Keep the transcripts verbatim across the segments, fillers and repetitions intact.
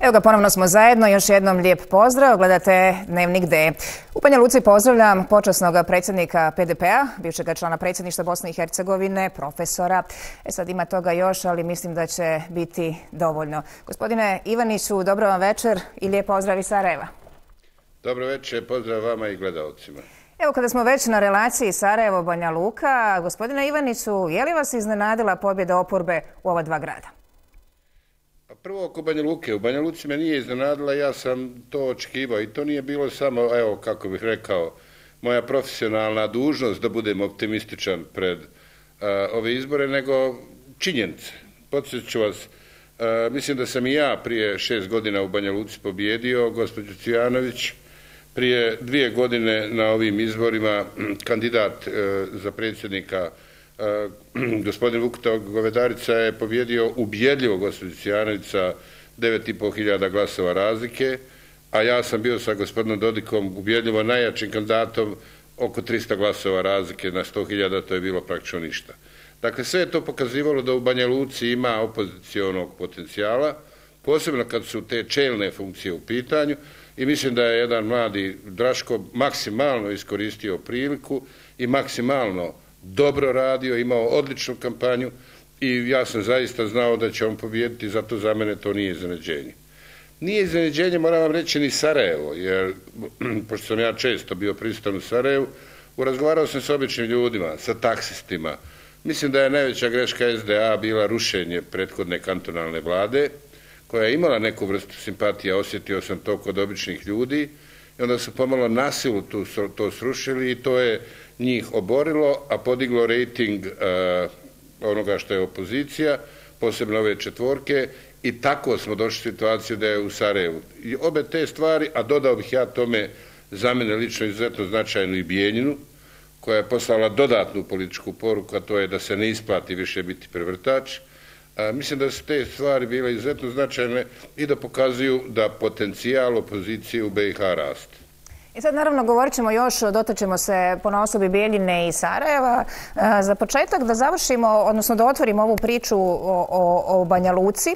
Evo ga, ponovno smo zajedno. Još jednom lijep pozdrav. Gledate Dnevnik D. U Banja Luci pozdravljam počasnog predsjednika P D P-a, bivšega člana predsjedništva Bosne i Hercegovine, profesora. E sad ima toga još, ali mislim da će biti dovoljno. Gospodine Ivaniću, dobro vam večer i lijep pozdrav iz Sarajeva. Dobro večer, pozdrav vama i gledalcima. Evo, kada smo već na relaciji Sarajevo-Banja Luka, gospodine Ivaniću, je li vas iznenadila pobjeda oporbe u ova dva grada? Prvo oko Banja Luke. U Banja Luci me nije iznenadila, ja sam to očekivao i to nije bilo samo, evo kako bih rekao, moja profesionalna dužnost da budem optimističan pred uh, ove izbore, nego činjenice. Podsjetit ću vas, uh, mislim da sam i ja prije šest godina u Banja Luci pobjedio, gospođu Cvijanović, prije dvije godine na ovim izborima kandidat uh, za predsjednika Uh, gospodin Vukuta Govedarica je pobjedio ubjedljivo gospođu Cvijanović sa devet i pol hiljada glasova razlike, a ja sam bio sa gospodinom Dodikom ubjedljivo najjačim kandidatom oko trista glasova razlike na sto hiljada, to je bilo praktično ništa. Dakle, sve je to pokazivalo da u Banja Luci ima opozicionog potencijala, posebno kad su te čelne funkcije u pitanju, i mislim da je jedan mladi Draško maksimalno iskoristio priliku i maksimalno dobro radio, imao odličnu kampanju i ja sam zaista znao da će on pobijediti, zato za mene to nije iznenađenje. Nije iznenađenje, moram vam reći, ni Sarajevo, jer pošto sam ja često bio prisutan u Sarajevu, razgovarao sam s običnim ljudima, sa taksistima. Mislim da je najveća greška S D A bila rušenje prethodne kantonalne vlade, koja je imala neku vrstu simpatija, osjetio sam to kod običnih ljudi, i onda su pomalo nasilu tu, to srušili i to je njih oborilo, a podiglo rejting uh, onoga što je opozicija, posebno ove četvorke, i tako smo došli u situaciju da je u Sarajevu. I obe te stvari, a dodao bih ja tome za mene lično izuzetno značajnu i Bijeljinu, koja je poslala dodatnu političku poruku, a to je da se ne isplati više biti prevrtač. A, mislim da su te stvari bile izuzetno značajne i da pokazuju da potencijal opozicije u B i H raste. I sad naravno govorit ćemo još, dotačemo se ponaosobi Bijeljine i Sarajeva. Za početak da završimo, odnosno da otvorimo ovu priču o, o, o Banja Luci.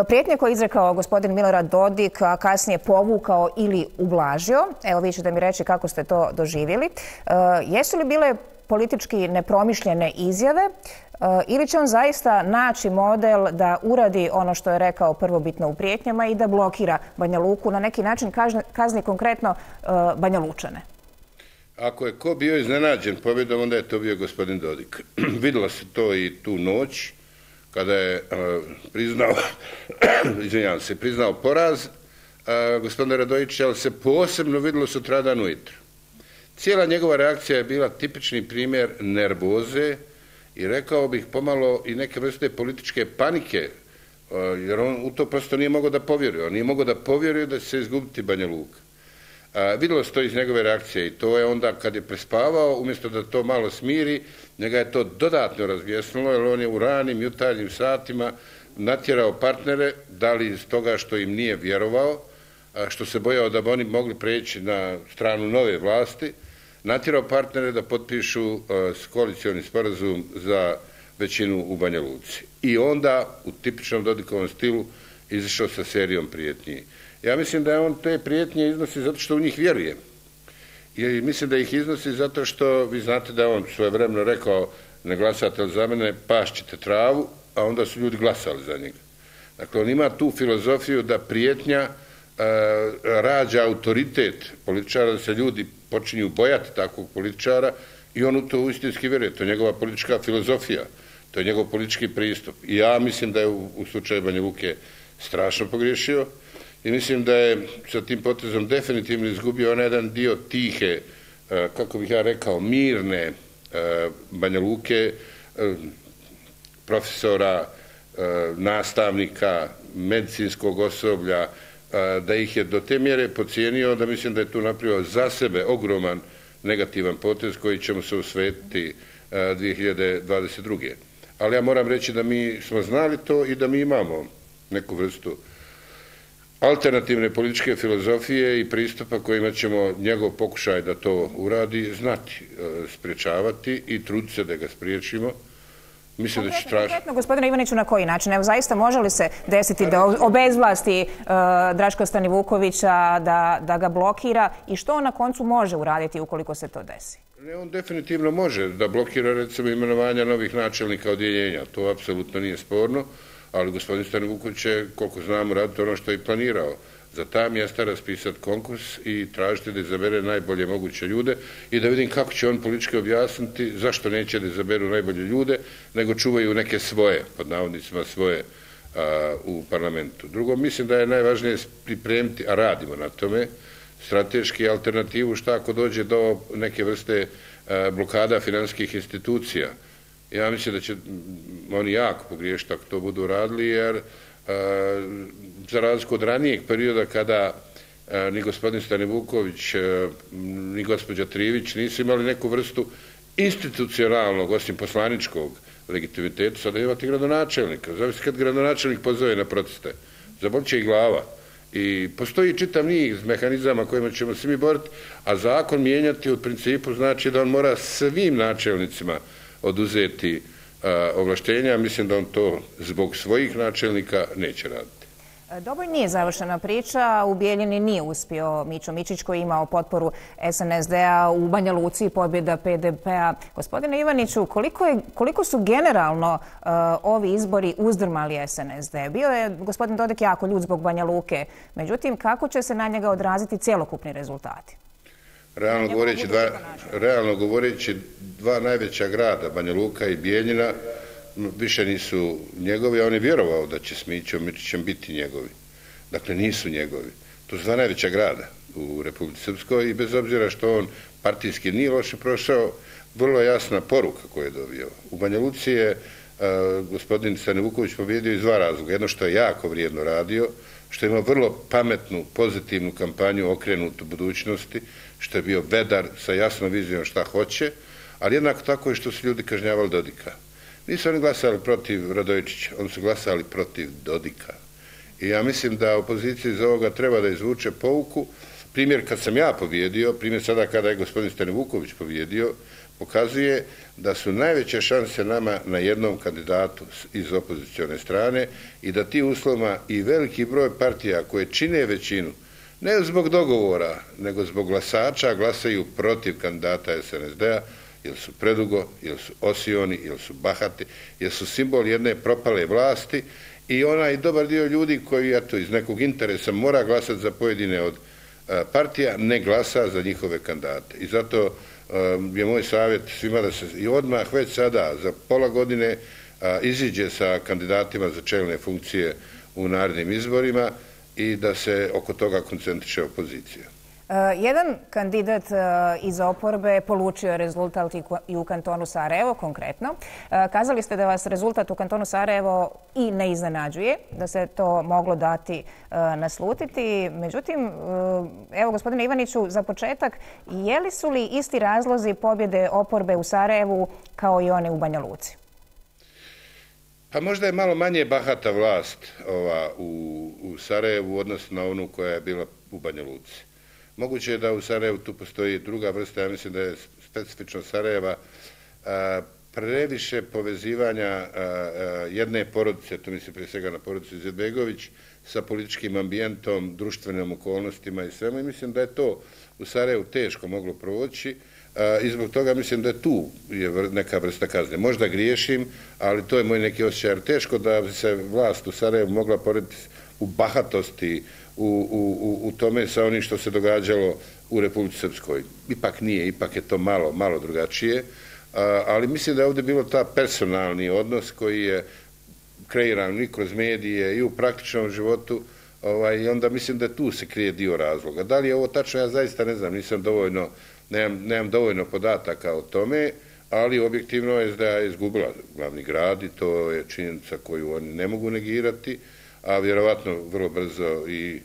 Prijetnje koje je izrekao gospodin Milorad Dodik, a kasnije povukao ili ublažio. Evo, vi ćete mi reći kako ste to doživjeli. Jesu li bile politički nepromišljene izjave ili će on zaista naći model da uradi ono što je rekao prvobitno u prijetnjama i da blokira Banja Luku, na neki način kazni, kazni konkretno Banja Lučane? Ako je ko bio iznenađen pobjedom, onda je to bio gospodin Dodik. Vidjela se to i tu noć, kada je uh, priznao, izvinjavam se, priznao poraz uh, gospodina Radojića, ali se posebno vidjelo sutradan ujutro. Cijela njegova reakcija je bila tipični primjer nervoze i rekao bih pomalo i neke vrste političke panike, jer on u to prosto nije mogao da povjeruje. On nije mogao da povjeruje da će se izgubiti Banja Luka. Vidjelo se to iz njegove reakcije i to je onda kad je prespavao, umjesto da to malo smiri, njega je to dodatno razvjesnulo, jer on je u ranim jutarnjim satima natjerao partnere, da li iz toga što im nije vjerovao, što se bojao da bi oni mogli preći na stranu nove vlasti, natjerao partnere da potpišu uh, koalicioni sporazum za većinu u Banja Luci. I onda, u tipičnom Dodikovom stilu, izašao sa serijom prijetnji. Ja mislim da je on te prijetnje iznosi zato što u njih vjeruje. I mislim da ih iznosi zato što, vi znate da je on svojevremeno rekao, ne glasate za mene, pašćete travu, a onda su ljudi glasali za njega. Dakle, on ima tu filozofiju da prijetnja rađa autoritet političara, da se ljudi počinju bojati takvog političara i on u to uistinski vjeruje. To je njegova politička filozofija, to je njegov politički pristup. I ja mislim da je u, u slučaju Banja Luke strašno pogriješio i mislim da je sa tim potezom definitivno izgubio onaj jedan dio tihe, kako bih ja rekao, mirne Banja Luke, profesora, nastavnika, medicinskog osoblja, da ih je do te mjere pocijenio da mislim da je tu napravio za sebe ogroman negativan potez koji ćemo se osvetiti dvije hiljade dvadeset druge. Ali ja moram reći da mi smo znali to i da mi imamo neku vrstu alternativne političke filozofije i pristupa kojima ćemo njegov pokušaj da to uradi znati, spriječavati i truditi se da ga spriječimo. Mislim da će tražiti. Konkretno, gospodine Ivaniću, na koji način? Evo, zaista može li se desiti da obezvlasti Draška Stanivukovića, da ga blokira i što on na koncu može uraditi ukoliko se to desi? Ne, on definitivno može da blokira, recimo, imenovanja novih načelnika odjeljenja. To apsolutno nije sporno, ali gospodin Stanivuković će, koliko znamo, raditi ono što je i planirao. Za ta mjesta raspisati konkurs i tražiti da izabere najbolje moguće ljude i da vidim kako će on politički objasniti zašto neće da izaberu najbolje ljude, nego čuvaju neke svoje, pod navodnicima svoje, u parlamentu. Drugo, mislim da je najvažnije pripremiti, a radimo na tome, strateški alternativu šta ako dođe do neke vrste blokada finansijskih institucija. Ja mislim da će oni jako pogriješiti ako to budu radili, jer za razliku od ranijeg perioda kada ni gospodin Stanivuković ni gospođa Trivić nisu imali neku vrstu institucionalnog, osim poslaničkog legitimiteta, sada imate gradonačelnika. Zavisno kad gradonačelnik pozove na proteste, zabolće i glava. I postoji čitav niz mehanizama kojima ćemo se mi boriti, a zakon mijenjati u principu znači da on mora svim načelnicima oduzeti ovlaštenja. Mislim da on to zbog svojih načelnika neće raditi. Dobro, nije završena priča. U Bijeljini nije uspio Mićo Mičić koji je imao potporu S N S D-a, u Banja Luci pobjeda P D P-a. Gospodine Ivaniću, koliko su generalno ovi izbori uzdrmali S N S D? Bio je gospodin Dodik jako ljut zbog Banja Luke. Međutim, kako će se na njega odraziti cjelokupni rezultati? Realno govoreći, dva najveća grada, Banja Luka i Bijeljina, više nisu njegovi, a on je vjerovao da će s Mićom Mičićem biti njegovi. Dakle, nisu njegovi. To su dva najveća grada u Republici Srpskoj i bez obzira što on partijski nije loše prošao, vrlo jasna poruka koju je dobio. U Banja Luci je gospodin Stanivuković pobjedio iz dva razloga. Jedno što je jako vrijedno radio, što je imao vrlo pametnu, pozitivnu kampanju okrenutu budućnosti, što je bio vedar sa jasnom vizijom šta hoće, ali jednako tako je što su ljudi kažnjavali Dodika. Nisu oni glasali protiv Radojičića, oni su glasali protiv Dodika. I ja mislim da opozicija iz ovoga treba da izvuče pouku. Primjer kad sam ja pobjedio, primjer sada kada je gospodin Stanivuković pobjedio, pokazuje da su najveće šanse nama na jednom kandidatu iz opozicione strane i da ti uslovima i veliki broj partija koje čine većinu, ne zbog dogovora, nego zbog glasača, glasaju protiv kandidata S N S D-a, jer su predugo, jer su osioni, jer su bahati, jer su simbol jedne propale vlasti i onaj dobar dio ljudi koji eto, iz nekog interesa mora glasati za pojedine od partija, ne glasa za njihove kandidate. I zato je moj savjet svima da se i odmah već sada za pola godine iziđe sa kandidatima za čelne funkcije u narednim izborima i da se oko toga koncentriše opozicija. Jedan kandidat iz oporbe polučio je rezultat i u kantonu Sarajevo, konkretno. Kazali ste da vas rezultat u kantonu Sarajevo i ne iznenađuje, da se to moglo dati naslutiti. Međutim, evo, gospodine Ivaniću, za početak, je li su li isti razlozi pobjede oporbe u Sarajevu kao i one u Banja Luci? Pa možda je malo manje bahata vlast ova, u, u Sarajevu u odnosu na onu koja je bila u Banja Luci. Moguće je da u Sarajevu tu postoji druga vrsta, ja mislim da je specifično Sarajeva, a, previše povezivanja a, a, jedne porodice, to mislim prije svega na porodicu Izetbegović, sa političkim ambijentom, društvenim okolnostima i svemu. I mislim da je to u Sarajevu teško moglo proći a, i zbog toga mislim da je tu je neka vrsta kazne. Možda griješim, ali to je moj neki osjećaj. Teško da se vlast u Sarajevu mogla porediti u bahatosti, U, u, u tome sa onim što se događalo u Republici Srpskoj. Ipak nije, ipak je to malo, malo drugačije, ali mislim da je ovdje bilo ta personalni odnos koji je kreiran i kroz medije i u praktičnom životu ovaj, i onda mislim da tu se krije dio razloga. Da li je ovo tačno, ja zaista ne znam, nisam dovoljno, nemam, nemam dovoljno podataka o tome, ali objektivno S D A je izgubila glavni grad i to je činjenica koju oni ne mogu negirati, a vjerovatno vrlo brzo i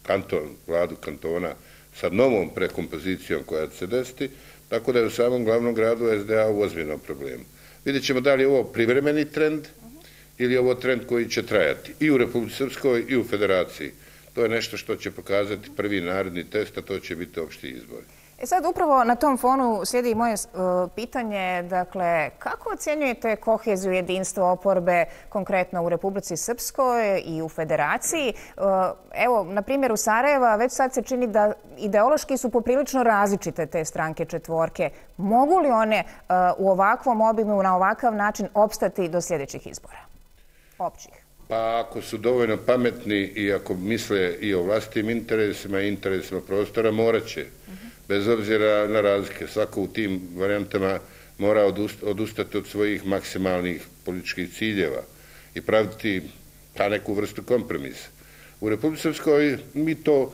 kanton, vladu kantona sa novom prekompozicijom koja će se desiti, tako da je u samom glavnom gradu S D A u ozbiljnom problemu. Vidjet ćemo da li je ovo privremeni trend ili je ovo trend koji će trajati i u Republici Srpskoj i u Federaciji. To je nešto što će pokazati prvi naredni test, a to će biti opšti izbor. E sad upravo na tom fonu slijedi i moje uh, pitanje, dakle, kako ocjenjujete koheziju jedinstva oporbe konkretno u Republici Srpskoj i u Federaciji? Uh, evo, na primjeru Sarajeva, već sad se čini da ideološki su poprilično različite te stranke četvorke. Mogu li one uh, u ovakvom obimu, na ovakav način opstati do sljedećih izbora? Općih. Pa ako su dovoljno pametni i ako misle i o vlastitim interesima i interesima prostora, morat će. Bez obzira na razlike, svako u tim varijantama mora odustati od svojih maksimalnih političkih ciljeva i praviti ta neku vrstu kompromisa. U Republici Srpskoj mi to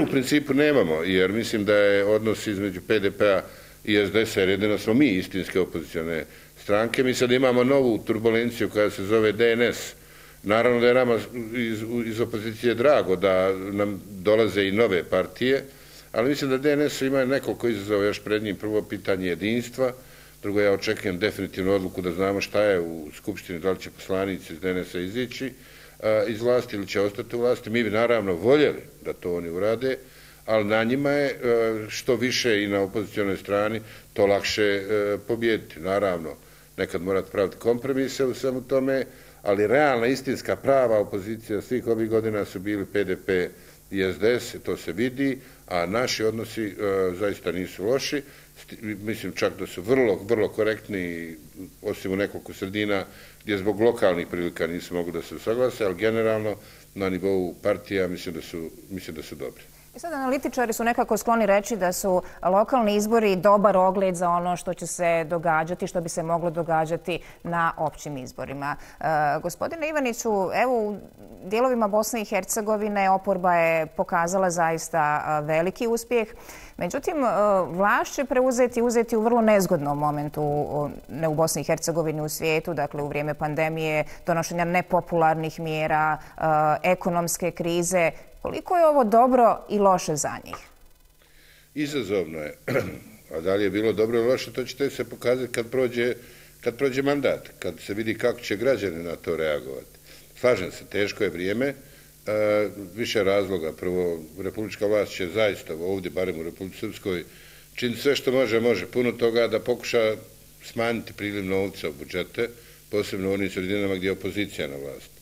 u principu nemamo, jer mislim da je odnos između P D P-a i S D S-a, jer jedino smo mi istinske opozicione stranke. Mi sad imamo novu turbulenciju koja se zove D N S. Naravno da je nama iz, iz opozicije drago da nam dolaze i nove partije, ali mislim da D N S ima nekoliko izazova još pred njim. Prvo pitanje jedinstva, drugo ja očekujem definitivnu odluku da znamo šta je u Skupštini, da li će poslanici iz D N S-a izići iz vlasti ili će ostati u vlasti. Mi bi naravno voljeli da to oni urade, ali na njima je što više i na opozicionoj strani to lakše pobijediti. Naravno, nekad morate praviti kompromise u svemu tome, ali realna, istinska, prava opozicija svih ovih godina su bili P D P i S D S, to se vidi, a naši odnosi uh, zaista nisu loši. Mislim čak da su vrlo, vrlo korektni, osim u nekoliko sredina gdje zbog lokalnih prilika nisu mogli da se usaglase, ali generalno na nivou partija mislim da su, mislim da su dobri. I sad analitičari su nekako skloni reći da su lokalni izbori dobar ogled za ono što će se događati, što bi se moglo događati na općim izborima. E, gospodine Ivaniću, evo u dijelovima Bosne i Hercegovine oporba je pokazala zaista veliki uspjeh. Međutim, vlast će preuzeti uzeti u vrlo nezgodnom momentu, ne u Bosni i Hercegovini, u svijetu, dakle u vrijeme pandemije, donošenja nepopularnih mjera, ekonomske krize. Koliko je ovo dobro i loše za njih? Izazovno je. A da li je bilo dobro ili loše, to ćete se pokazati kad prođe, kad prođe mandat, kad se vidi kako će građani na to reagovati. Slažem se, teško je vrijeme, e, više razloga. Prvo, republička vlast će zaista ovdje, barem u Republici Srpskoj, činiti sve što može, može. Puno toga da pokuša smanjiti priliv novca u budžete, posebno u onim sredinama gdje je opozicija na vlasti.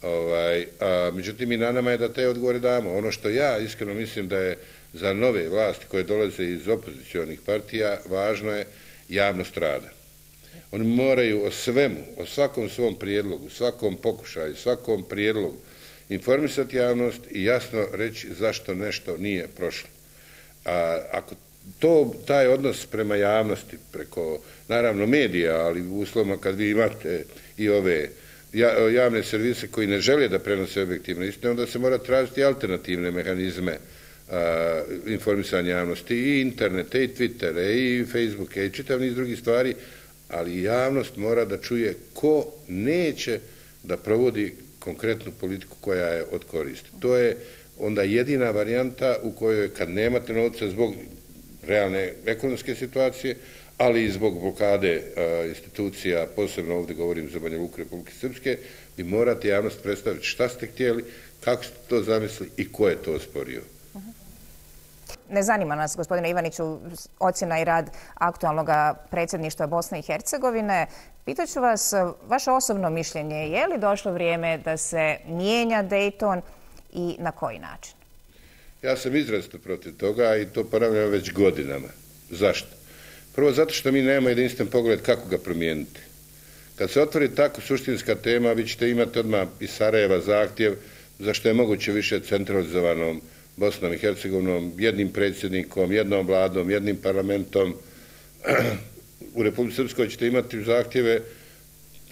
Ovaj, a, međutim, i na nama je da te odgovore damo. Ono što ja iskreno mislim da je za nove vlasti koje dolaze iz opozicionih partija važno je javnost rada. Oni moraju o svemu, o svakom svom prijedlogu, svakom pokušaju, svakom prijedlogu informisati javnost i jasno reći zašto nešto nije prošlo. A, ako to, taj odnos prema javnosti, preko naravno medija, ali u uslovima kad vi imate i ove javne servise koji ne žele da prenose objektivne istine, onda se mora tražiti alternativne mehanizme a, informisanja javnosti, i internete, i Twittere, i Facebooke, i čitav niz drugih stvari, ali javnost mora da čuje ko neće da provodi konkretnu politiku koja je od koristi. To je onda jedina varijanta u kojoj kad nemate novca zbog realne ekonomske situacije, ali i zbog blokade a, institucija, posebno ovdje govorim za Banja Luku Republike Srpske, vi morate javnost predstaviti šta ste htjeli, kako ste to zamislili i ko je to osporio. Ne zanima nas, gospodine Ivaniću, ocjena i rad aktualnog predsjedništva Bosne i Hercegovine. Pitaću vas vaše osobno mišljenje, je li došlo vrijeme da se mijenja Dayton i na koji način? Ja sam izrazito protiv toga i to ponavljam već godinama. Zašto? Prvo, zato što mi nemamo jedinstven pogled kako ga promijeniti. Kad se otvori tako suštinska tema, vi ćete imati odmah iz Sarajeva zahtjev zašto je moguće više centralizovanom Bosnom i Hercegovinom, jednim predsjednikom, jednom vladom, jednim parlamentom. U Republici Srpskoj ćete imati zahtjeve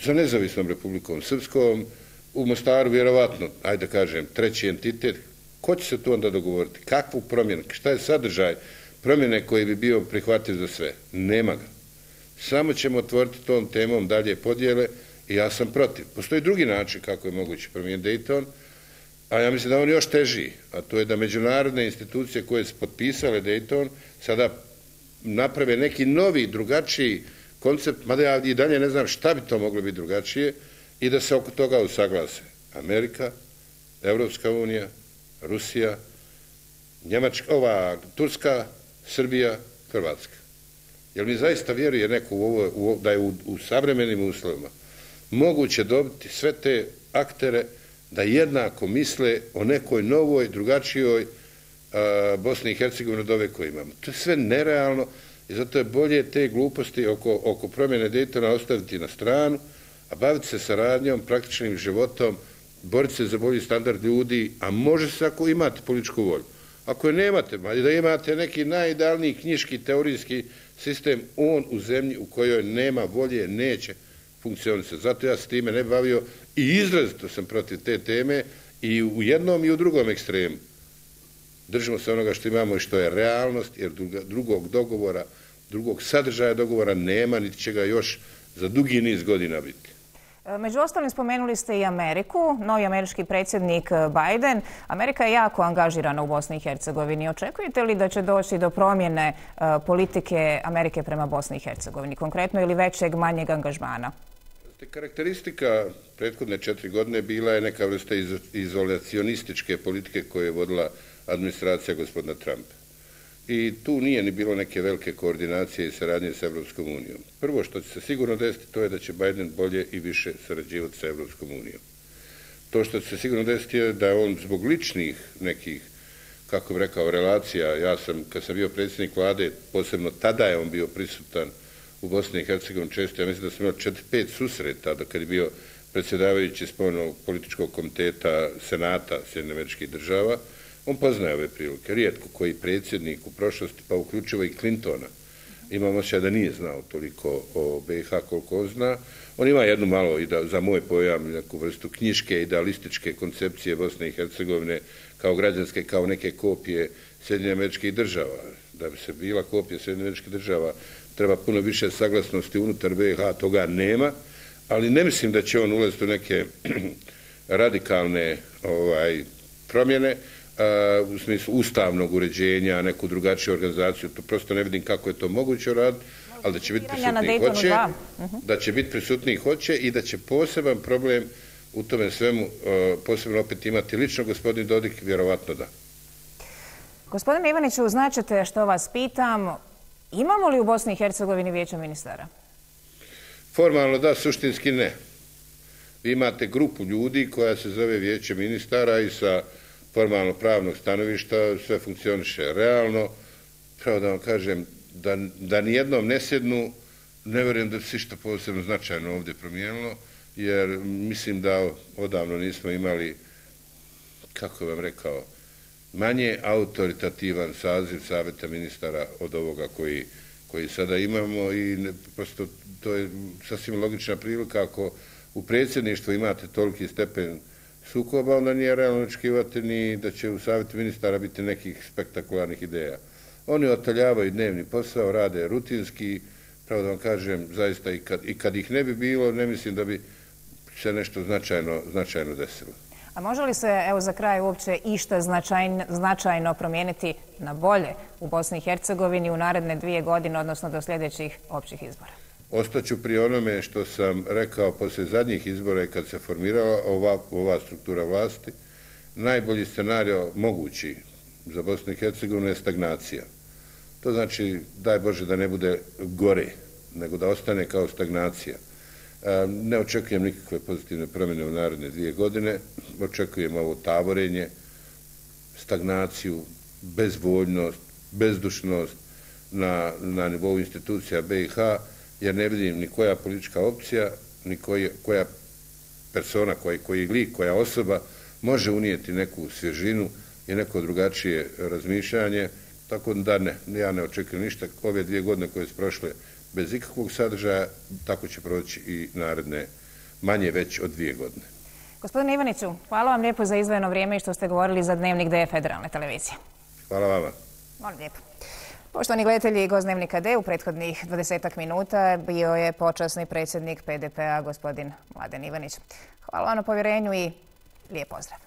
za nezavisnom Republikom Srpskom, u Mostaru vjerovatno, ajde da kažem, treći entitet. Ko će se tu onda dogovoriti? Kakvu promjenu? Šta je sadržaj promjene koji bi bio prihvatljiv za sve? Nema ga. Samo ćemo otvoriti tom temom dalje podjele i ja sam protiv. Postoji drugi način kako je moguće promijeniti Dayton, a ja mislim da on još teži, a to je da međunarodne institucije koje su potpisale Dayton sada naprave neki novi, drugačiji koncept, mada ja i dalje ne znam šta bi to moglo biti drugačije, i da se oko toga usaglase Amerika, Evropska unija, Rusija, Njemačka, ova, Turska Srbija, Hrvatska. Jer mi zaista vjeruje neko u ovo, u, da je u, u savremenim uslovima moguće dobiti sve te aktere da jednako misle o nekoj novoj, drugačijoj a, Bosni i Hercegovini od ove koje imamo. To je sve nerealno i zato je bolje te gluposti oko, oko promjene Daytona ostaviti na stranu, a baviti se saradnjom, praktičnim životom, boriti se za bolji standard ljudi, a može se ako imate političku volju. Ako je nemate, da imate neki najidealniji knjiški, teorijski sistem, on u zemlji u kojoj nema volje neće funkcionisati. Zato ja se time ne bavio i izrazito sam protiv te teme i u jednom i u drugom ekstremu. Držimo se onoga što imamo i što je realnost, jer drugog dogovora, drugog sadržaja dogovora nema, niti će ga još za dugi niz godina biti. Među ostalim spomenuli ste i Ameriku, novi američki predsjednik Biden. Amerika je jako angažirana u Bosni i Hercegovini. Očekujete li da će doći do promjene politike Amerike prema Bosni i Hercegovini, konkretno ili većeg, manjeg angažmana? Karakteristika prethodne četiri godine bila je neka vrsta izolacionističke politike koje je vodila administracija gospodina Trumpa. I tu nije ni bilo neke velike koordinacije i saradnje s Evropskom unijom. Prvo što će se sigurno desiti, to je da će Biden bolje i više sarađivati sa Evropskom unijom. To što će se sigurno desiti je da on zbog ličnih nekih, kako bih rekao, relacija, ja sam, kad sam bio predsjednik vlade, posebno tada je on bio prisutan u Bosni i Hercegovini često, ja mislim da sam imao četiri pet susreta, da kad je bio predsjedavajući spoljnog političkog komiteta Senata Sjedinjenih Američkih Država, on poznaje ove prilike. Rijetko koji predsjednik u prošlosti, pa uključivo i Clintona, imam osjećaj da nije znao toliko o B i H koliko on zna. On ima jednu malo, i da, za moj pojam, neku vrstu knjiške, idealističke koncepcije Bosne i Hercegovine kao građanske, kao neke kopije Sjedinjenih Američkih Država. Da bi se bila kopija Sjedinjenih Američkih Država, treba puno više saglasnosti unutar B i H, toga nema, ali ne mislim da će on ulaziti u neke radikalne ovaj, promjene, u smislu ustavnog uređenja, neku drugačiju organizaciju, to prosto ne vidim kako je to moguće raditi, ali da će biti prisutniji hoće, da će biti prisutniji hoće i da će poseban problem u tome svemu posebno opet imati lično gospodin Dodik, vjerovatno da. Gospodine Ivaniću, značite što vas pitam, imamo li u Bosni i Hercegovini vijeće ministara? Formalno da, suštinski ne. Vi imate grupu ljudi koja se zove vijeće ministara i sa formalno pravnog stanovišta sve funkcioniše realno. Pravo da vam kažem, da, da nijednom ne sjednu, ne vjerujem da se što posebno značajno ovdje promijenilo, jer mislim da odavno nismo imali, kako vam rekao, manje autoritativan saziv savjeta ministara od ovoga koji, koji sada imamo i ne, prosto to je sasvim logična prilika ako u predsjedništvu imate toliki stepen sukoba, onda nije realno očekivati ni da će u savjetu ministara biti nekih spektakularnih ideja. Oni otaljavaju dnevni posao, rade rutinski, pravo da vam kažem, zaista i kad, i kad ih ne bi bilo, ne mislim da bi se nešto značajno, značajno desilo. A može li se, evo za kraj, uopće išta značajno, značajno promijeniti na bolje u Bosni i Hercegovini u naredne dvije godine, odnosno do sljedećih općih izbora? Ostaću pri onome što sam rekao poslije zadnjih izbora i kad se formirala ova, ova struktura vlasti. Najbolji scenario mogući za Bosnu i Hercegovinu je stagnacija. To znači, daj Bože, da ne bude gore, nego da ostane kao stagnacija. Ne očekujem nikakve pozitivne promjene u naredne dvije godine. Očekujem ovo tavorenje, stagnaciju, bezvoljnost, bezdušnost na, na nivou institucija B i H, jer ne vidim ni koja politička opcija, ni koji, koja persona, koji, koji lik, koja osoba može unijeti neku svježinu i neko drugačije razmišljanje. Tako da ne, ja ne očekujem ništa. Ove dvije godine koje su prošle bez ikakvog sadržaja, tako će proći i naredne manje već od dvije godine. Gospodine Ivaniću, hvala vam lijepo za izdvojeno vrijeme i što ste govorili za Dnevnik D Federalne televizije. Hvala vama. Molim lijepo. Poštovani gledatelji, gost Dnevnika D u prethodnih dvadesetak minuta bio je počasni predsjednik P D P-a, gospodin Mladen Ivanić. Hvala vam na povjerenju i lijep pozdrav.